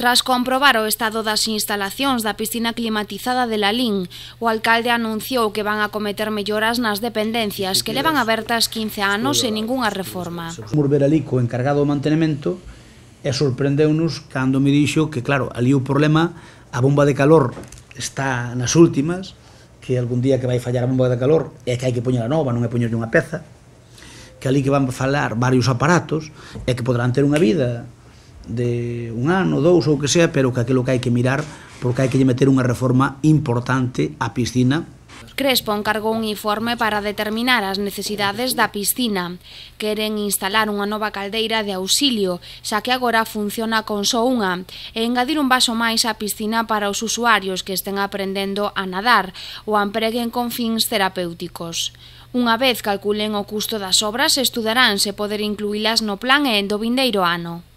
Tras comprobar o estado das instalacións da piscina climatizada de Lalín, o alcalde anunciou que van a cometer melloras nas dependencias que levan abertas 15 anos sen ningunha reforma. Fomos ver ali co encargado do mantenimento e sorprendeu-nos cando me dixo que, claro, ali o problema, a bomba de calor está nas últimas, que algún día que vai fallar a bomba de calor é que hai que poñer a nova, non é poñerlle unha peza, que ali que van falar varios aparatos e que poderán ter unha vida de un ano, dous ou que sea, pero que aquilo que hai que mirar porque hai que lle meter unha reforma importante á piscina. Crespo encargou un informe para determinar as necesidades da piscina. Queren instalar unha nova caldeira de auxilio, xa que agora funciona con só unha, e engadir un vaso máis á piscina para os usuarios que estén aprendendo a nadar ou a empreguen con fins terapéuticos. Unha vez calculen o custo das obras, estudarán se poder incluílas no plan e do vindeiro ano.